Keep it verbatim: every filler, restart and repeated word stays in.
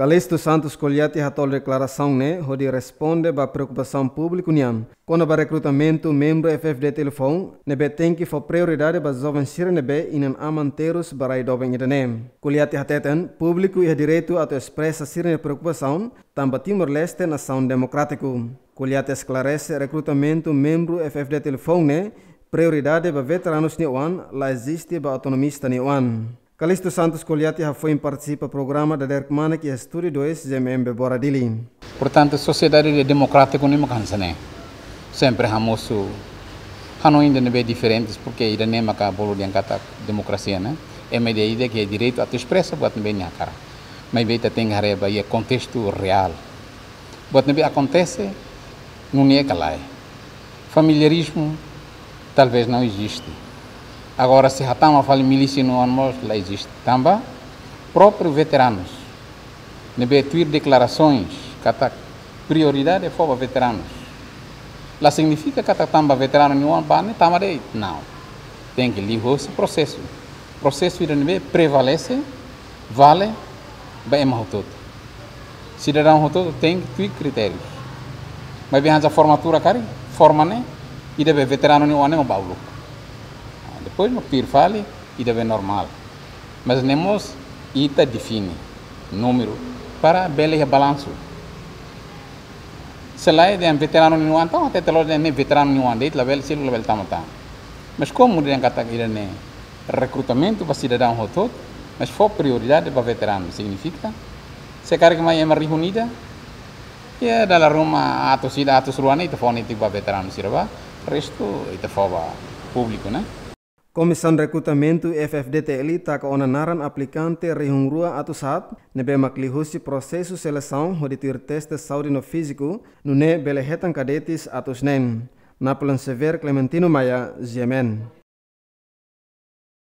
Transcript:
Calixto Santos Coliati hato'o deklarasaun ne'e hodi responde ba preokupasaun públiku nian kona-ba rekrutamentu membru F F D T L foun ne'ebé tenke fó prioridade ba joven sira ne'ebé inan-aman terus ba rai doben ida-ne'e. Coliati hateten, públiku iha direitu atu espresa sira-nia preokupasaun, tanba Timor-Leste nasaun demokrátiku. Coliati esklarese, rekrutamentu membru F F D T L foun ne'e prioridade ba veteranus nia oan, la eziste ba autonomista nia oan. Calixto Santos Coliati hafoin partisipa programa Dader Kmanek iha Estúdiu dois Z M M Bebora Dili. Portantu, sosiedade de demokrátiku ne'e mak hanesan ne'e. Sempre hamosu hanoin ida ne'ebé diferentes, porke ida-ne'e maka bolu dehan katak demokrasia, ne'e? Ema ida-idak iha direitu atu espresa buat ne'ebé nia hakarak. Maibé ita tenke haree ba iha kontestu reál. Buat ne'ebé akontese, nune'e ka lae. Familiarizmu talvez não existe. Agora, se hatama fali milísia nia oan mós la eziste. Tanba própriu veteranus ne'ebé tuir deklarasoens katak prioridade fó ba veteranus, la signifika katak tanba veteranu nia oan ba ne'e tama de'it. Não. Tenke liuhosi prosesu. Prosesu ida ne'ebé prevalese, vale ba ema hotu-hotu. Sidadaun hotu-hotu tenke tuir kritérius. Maibé hanesan formatura karik, forma ne'e, ida be veteranu nia oan ne'e mak ba uluk. Ah, depois mak tuir fali, ida be normál. Mas ne'e mós ita define númeru para bele iha balansu. Se lae dehan veteranu nia oan, entaun até telo dehan ne'e veteranu nia oan de'it, labele, sira labele tama tan. Mas komu dehan katak ida-ne'e rekrutamentu ba sidadaun hotu-hotu, mas fó prioridade ba veteranu, signifika, se karik mai ema rihun ida, iha dala ruma atus ida, atus rua ne'e ita fó netik ba veteranu sira ba, restu ita fó ba públiku, ne'e? Komisaun Rekrutamentu F F D T L taka ona naran aplikante rihun rua atus haat, ne'ebé mak liuhosi prosesu selesaun hodi tuir teste saúde no fíziku, nune'e bele hetan kadetes atus neen. Napoleon Xavier, Clementino Maia, Z M N.